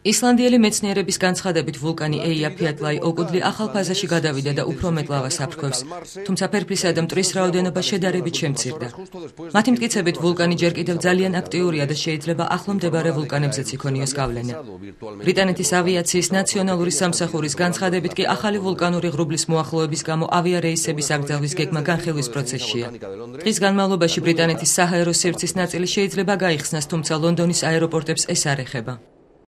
ისლანდიელი მეცნიერების განცხადებით ვულკანი ეიაფიატლაი ოკუდლი ახალ ფაზაში გადავიდა და უფრო მეტ ლავას აფრქვევს, თუმცა ფერფლისა და მტვრის რაოდენობა შედარებით შემცირდა. მათი მტკიცებით ვულკანი ჯერ კიდევ ძალიან აქტიურია და შეიძლება ახლო მდებარე ვულკანებზეც იქონიოს გავლენა. ბრიტანეთის ავიაციის ნაციონალური სამსახურის განცხადებით კი ახალი ვულკანური ღრუბლის მოახლოების გამო ავიარეისების აკრძალვის გეგმა განხილვის პროცესშია. დღის განმავლობაში ბრიტანეთის საჰაერო სივრცის ნაწილი შეიძლება გაიხსნას, თუმცა ლონდონის აეროპორტებს ეს არ ეხება.